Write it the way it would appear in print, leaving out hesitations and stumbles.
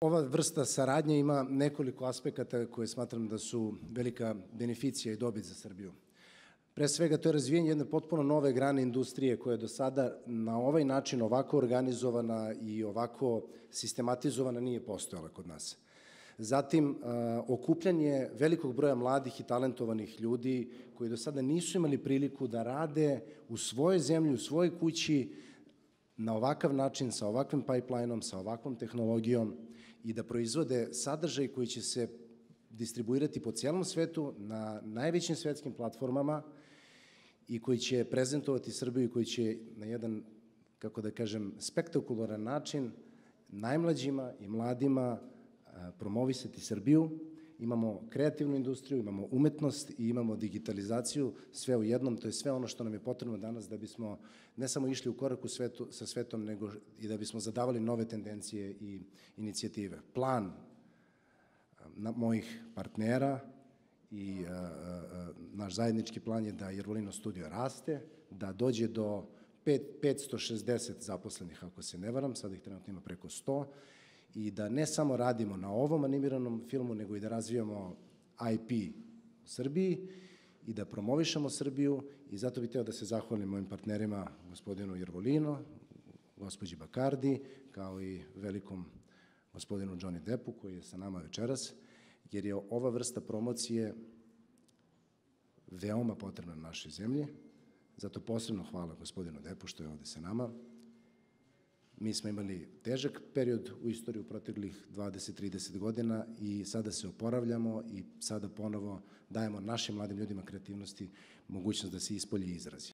Ova vrsta saradnje ima nekoliko aspekata koje smatram da su velika beneficija i dobit za Srbiju. Pre svega, to je razvijenje jedne potpuno nove grane industrije koja je do sada na ovaj način ovako organizovana i ovako sistematizovana nije postojala kod nas. Zatim, okupljanje velikog broja mladih i talentovanih ljudi koji do sada nisu imali priliku da rade u svojoj zemlji, u svojoj kući, na ovakav način, sa ovakvim pipeline-om, sa ovakvom tehnologijom i da proizvode sadržaj koji će se distribuirati po cijelom svetu na najvećim svetskim platformama i koji će prezentovati Srbiju i koji će na jedan, kako da kažem, spektakularan način najmlađima i mladima promovisati Srbiju. Imamo kreativnu industriju, imamo umetnost i imamo digitalizaciju, sve u jednom. To je sve ono što nam je potrebno danas da bismo ne samo išli u korak sa svetom, nego i da bismo zadavali nove tendencije i inicijative. Plan mojih partnera i naš zajednički plan je da Jervolino studio raste, da dođe do 560 zaposlenih, ako se ne varam, sada ih trenutno ima preko 100, i da ne samo radimo na ovom animiranom filmu, nego i da razvijamo IP u Srbiji i da promovišemo Srbiju, i zato bih hteo da se zahvalim mojim partnerima, gospodinu Jervolino, gospođi Bakardi, kao i velikom gospodinu Johnny Deppu, koji je sa nama večeras, jer je ova vrsta promocije veoma potrebna na našoj zemlji. Zato posebno hvala gospodinu Deppu što je ovde sa nama. Mi smo imali težak period u istoriji u proteklih 20-30 godina i sada se oporavljamo i sada ponovo dajemo našim mladim ljudima kreativnosti mogućnost da se ispolji i izrazi.